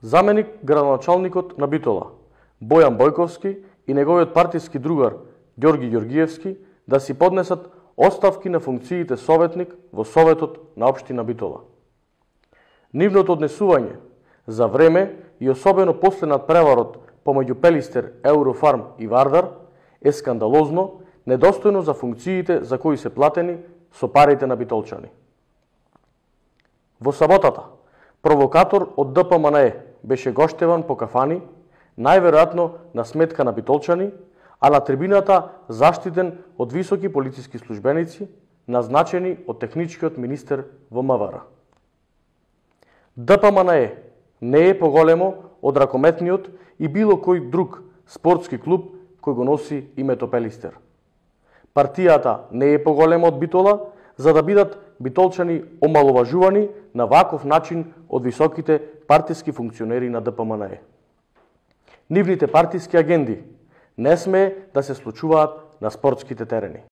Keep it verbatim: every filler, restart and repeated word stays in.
заменик градоначалникот на Битола, Бојан Бојковски и неговиот партиски другар Ѓорги Ѓоргиевски да си поднесат оставки на функциите советник во Советот на општина Битола. Нивното однесување за време и особено после надпреварот помеѓу Пелистер, Еурофарм и Вардар е скандалозно, недостојно за функциите за кои се платени со парите на битолчани. Во саботата, провокатор од Д П М Н Е беше гоштеван по кафани, најверојатно на сметка на битолчани, а на трибината заштитен од високи полициски службеници, назначени од техничкиот министер во М В Р. Д П М Н Е не е поголемо од ракометниот и било кој друг спортски клуб кој го носи името Пелистер. Партијата не е поголема од Битола, за да бидат битолчани омаловажувани на ваков начин од високите партиски функционери на Д П М Н Е. Нивните партиски агенди не смее да се случуваат на спортските терени.